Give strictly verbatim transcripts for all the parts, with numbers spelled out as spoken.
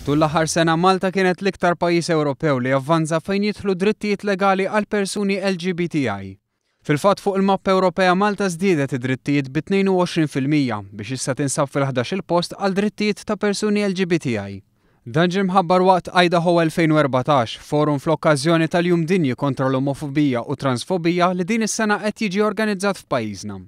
Tul l-aħħar sena Malta kienet l-iktar pajjiż Ewropew li avvanza fejn jidħlu drittijiet legali għal persuni L G B T I. Fil-fatt, fuq il-mappa Ewropea Malta żdiedet id-drittijiet bi tnejn u għoxrin fil-mija biex issa tinsab fil-ħdax-il post għal drittijiet ta' persuni L G B T I. Dan ġie mħabbar waqt Idaho elfejn u erbatax, forum fl-okkażjoni tal-Jum Dinji kontra l-Omofobija u Transfobija li din is-sena qed jiġi organizzat f'pajjiżna.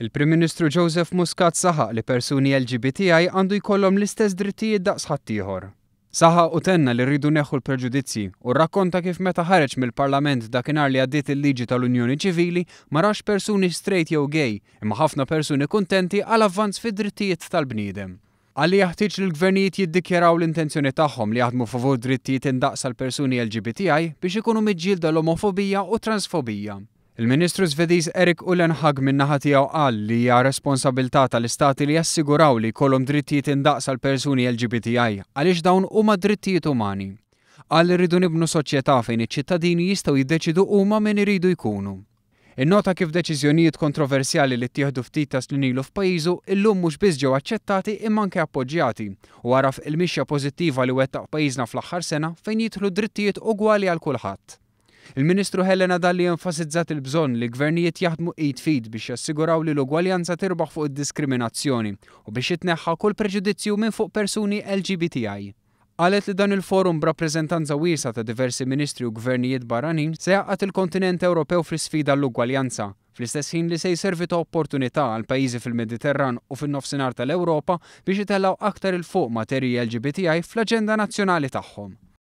Il-Prim Ministru Joseph Muscat saħaq li persuni L G B T I għandu jkollhom l-istess drittijiet daqs ħaddieħor. Saħaq u tenna li rridu neħħu l-preġudizzji u rrakkonta kif meta ħareġ mill-Parlament dakinhar li għaddiet il-liġi tal-Unjoni Ċivili ma rax persuni straight jew gay, imma ħafna persuni kuntenti għal avvanz fid-drittijiet tal-bniedem. Qal li jaħtieġ li l-gvernijiet jiddikjaraw l-intenzjoni tagħhom li jaħdmu favur drittijiet indaqs għal persuni L G B T I biex ikunu miġġielda l-omofobija u transfobija. Il-Ministru Svediż Erik Ullenhag min-naħa tiegħu qal li hija responsabilità tal-istati li jassiguraw li jkollhom drittijiet indaqs għal persuni L G B T I għaliex dawn huma drittijiet umani. Qal li rridu nibnu soċjetà fejn iċ-ċittadini jistgħu jiddeċidu huma min iridu jkunu. Innota kif deċiżjonijiet kontroversjali li ttieħdu ftit ta' snin ilu f'pajjiżu illum mhux biss ġew aċċettati imma anke appoġġjati u għaraf il-mixja pożittiva li wettaq pajjiżna fl-aħħar sena fejn jidħlu drittijiet ugwali għal kulħadd. Il-Ministru Helena Dalli enfasizzat il-bżonn li gvernijiet jaħdmu id f'id biex jassiguraw li l-ugwaljanza tirbaħ fuq id-diskriminazzjoni u biex jitneħħa kull preġudizzju minn fuq persuni L G B T I. Qalet li dan il-forum b'rappreżentanza wiesgħa ta' diversi ministri u gvernijiet barranin se jgħaqqad il-kontinent Ewropew fl-isfida l-ugwaljanza, fl-istess ħin li se jservi ta' opportunità għal pajjiżi fil-Mediterran u fin-nofsinhar tal-Ewropa biex itellgħu aktar 'il fuq materji L G B T I fl-aġenda nazzjonali tagħhom.